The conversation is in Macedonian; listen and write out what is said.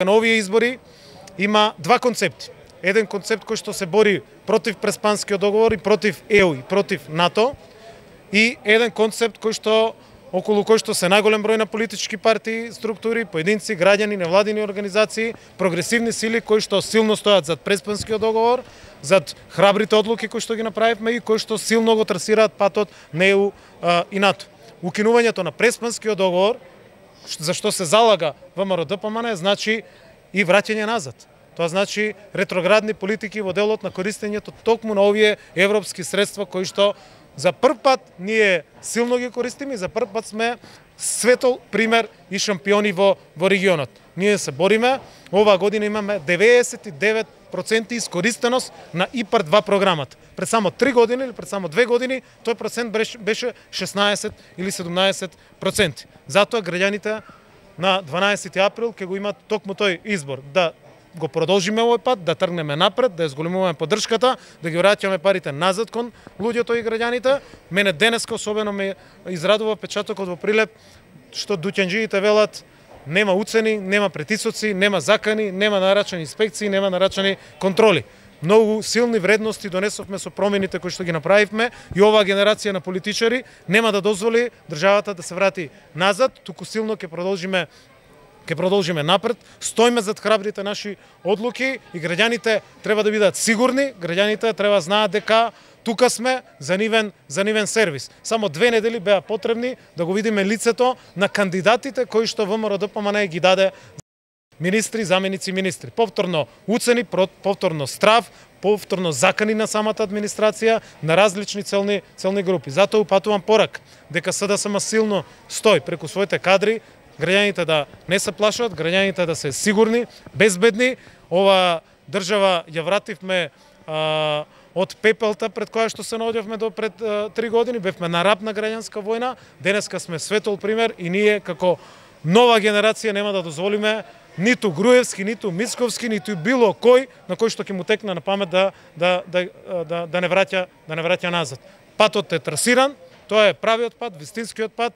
На овие избори има два концепти. Еден концепт кој што се бори против Преспанскиот договор и против ЕУ и против НАТО, и еден концепт околу кој што се најголем број на политички партии, структури, поединци, граѓани, невладини организации, прогресивни сили кои што силно стојат зад Преспанскиот договор, зад храбрите одлуки кои што ги направивме и кои што силно го трасираат патот на ЕУ и НАТО. Укинувањето на Преспанскиот договор, за што се залага ВМРО-ДПМН, значи и враќање назад. Тоа значи ретроградни политики во делот на користењето токму на овие европски средства кои што за прв пат ние силно ги користиме и за прв пат сме светол пример и шампиони во регионот. Ние се бориме, оваа година имаме 99% искористеност на ИПАР 2 програмата. Пред само 3 години или пред само 2 години тој процент беше 16 или 17%. Затоа граѓаните на 12 април ќе го имат токму тој избор, да го продолжиме овој пат, да тргнеме напред, да зголемуваме поддршката, да ги враќаме парите назад кон луѓето и граѓаните. Мене денеска особено ме израдува печатокот во Прилеп што дуќанџиите велат нема уцени, нема притисоци, нема закани, нема нарачани инспекции, нема нарачани контроли. Многу силни вредности донесовме со промените кои што ги направивме и оваа генерација на политичари нема да дозволи државата да се врати назад, туку силно ќе продолжиме напред. Стоиме зад храбрите наши одлуки и граѓаните треба да бидат сигурни, граѓаните треба знаат дека тука сме за нивен сервис. Само 2 недели беа потребни да го видиме лицето на кандидатите кои што ВМРО-ДПМН ги даде министри, заменици министри. Повторно уцени, повторно страв, повторно закани на самата администрација на различни целни групи. Затоа упатувам порак дека СДСМ силно стои преку своите кадри, граѓаните да не се плашат, граѓаните да се сигурни, безбедни. Ова држава ја вративме од пепелта пред која што се наоѓавме до пред 3 години, бевме на раб на граѓанска војна, денеска сме светол пример и ние како нова генерација нема да дозволиме ниту Груевски, ниту Мицковски, ниту било кој на кој што ќе му текне на памет да не враќа назад. Патот е трасиран, тоа е правиот пат, вистинскиот пат.